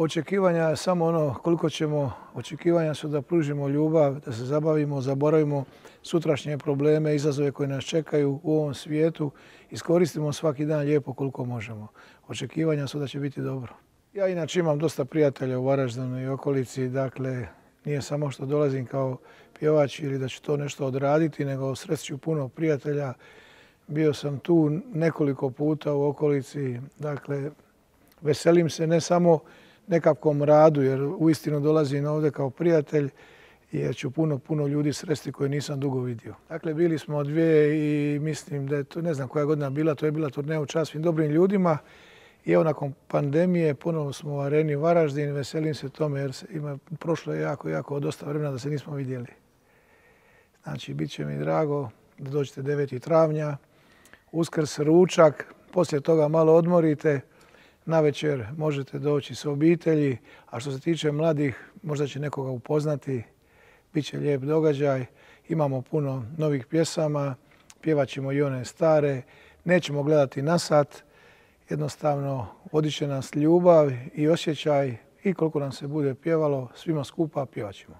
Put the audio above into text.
očekivanja je samo ono koliko ćemo, očekivanja su da pružimo ljubav, da se zabavimo, zaboravimo sutrašnje probleme, izazove koje nas čekaju u ovom svijetu. Iskoristimo svaki dan lijepo koliko možemo. Očekivanja su da će biti dobro. Ja inače imam dosta prijatelja u Varaždinu i okolici, dakle nije samo što dolazim kao pjevač ili da ću to nešto odraditi, nego srest ću puno prijatelja. Bio sam tu nekoliko puta u okolici, dakle veselim se ne samo nekakvom radu, jer uistinu dolazim ovdje kao prijatelj, jer ću puno ljudi sresti koje nisam dugo vidio. Dakle, bili smo dvije i mislim da je to, ne znam koja godina bila, to je bila turneja u čast svim dobrim ljudima. I evo, nakon pandemije ponovo smo u Areni Varaždin, veselim se tome jer prošlo je jako dosta vremena da se nismo vidjeli. Znači, bit će mi drago da dođete 9. travnja, Uskrs, ručak, poslije toga malo odmorite, navečer možete doći s obitelji, a što se tiče mladih, možda će nekoga upoznati, bit će lijep događaj, imamo puno novih pjesama, pjevat ćemo i one stare, nećemo gledati na sat, jednostavno vodit će nas ljubav i osjećaj i koliko nam se bude pjevalo, svima skupa pjevat ćemo.